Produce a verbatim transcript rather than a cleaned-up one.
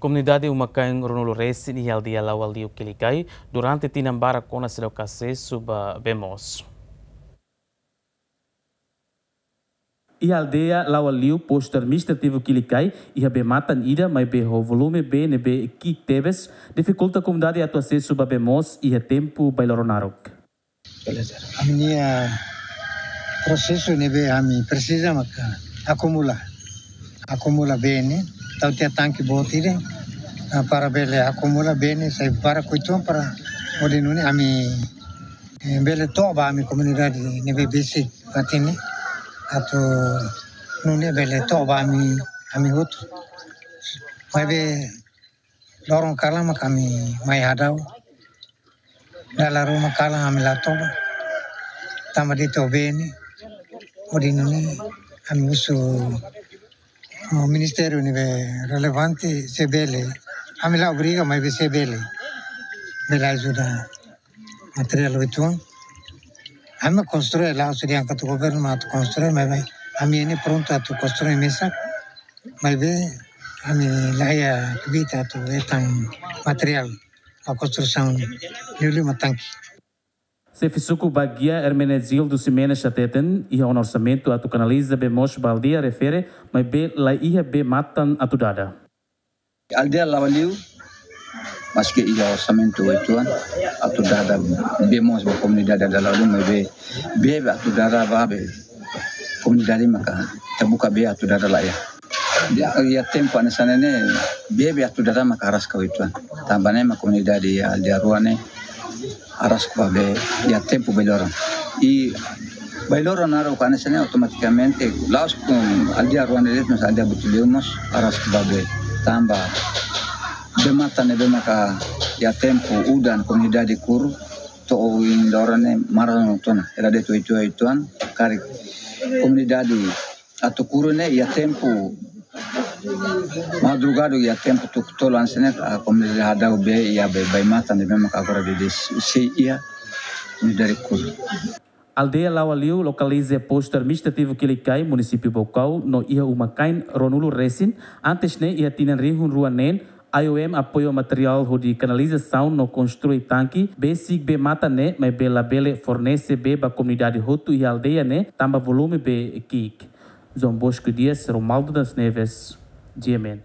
Komunidade uma-kain ruanulu resin iha aldeia Laua Liu Kilikai durante tinan barak ona seidauk asesu ba bee moos. Iha aldeia Laua Liu, postu administrativu Kilikai, iha bee-matan ida maibé ho volume bee ne'ebé ki'ik tebes, difikulta komunidade atu asesu ba bee moos iha tempu bailoron naruk. Ami-nia prosesu ne'ebé ami presiza maka akumula. Akumula bee ne'e, tau tiha tanke boot ida, ah, para bele akumula bee ne'e sai para kuiton para hodi nune'e ami, eh, bele to'o ba ami komunidade ne'ebé besik fatin ne'e. Atu nune'e bele to'o ba ami, ami hotu. Maibé loron kalan maka ami mai hadau. Dala ruma kalan ami la toba. Tanba de'it to'o bee ne'e. Hodi nune'e ami husu, oh, ministériu ne'ebé relevante se bele. Ami la obriga maibé se bele. Bele ajuda materiál uitoan. Ami konstrui la husu dehan katak governu mak atu konstrui maibé. Ami ne'e prontu atu konstrui mesak. Maibé ami la iha kbiit atu hetan materiál ba konstrusaun liu liu mak tanke. Xefe suku Baguia Hermenegildo Ximenes hateten, iha ona orsamentu atu kanaliza bee moos ba aldeia refere, maibé la iha bee-matan atu dada. Aldeia Laua Liu, maski iha orsamentu uitoan, atu dada bee moos ba komunidade aldeia Laua Liu, maibé bee atu dada ba bee komunidade maka ita buka bee atu dada la iha. Iha, iha tempu hanesan ne'e, bee atu dada maka araska uitoan. Tanba ne'e mak komunidade iha aldeia rua ne'e araska ba bee iha tempu bailoron. I bailoron naruk hanesan ne'e automatikamente la'ós, um, aldeia rua ne'e de'it, mas aldeia Butiliu mós araska ba bee. Tanba bee-matan ne'ebé maka iha tempu udan komunidade kuru, to'o oin loron ne'e maran ona. Hela de'it uitoan, karik komunidade atu kuru ne'e iha tempu madrugada, iha tempu tuku tolu hanesan ne'e, ah, komunidade hadau bee iha bee, bee-matan ne'ebé maka agora de'it sei iha komunidade kuru. Aldeia Laua Liu lokaliza iha postu administrativu Kilikai, munisípiu Baucau, no iha uma-kain ruanulu resin. Antes ne'e, iha tinan rihun rua neen, I O M apoia materiál hodi kanalizasaun no konstrui tanke, besik bee-matan ne'e, maibé labele fornese bee ba komunidade hotu iha aldeia ne'e, tanba volume bee ki'ik. João Bosco Dias, Romualdo das Neves, G M N.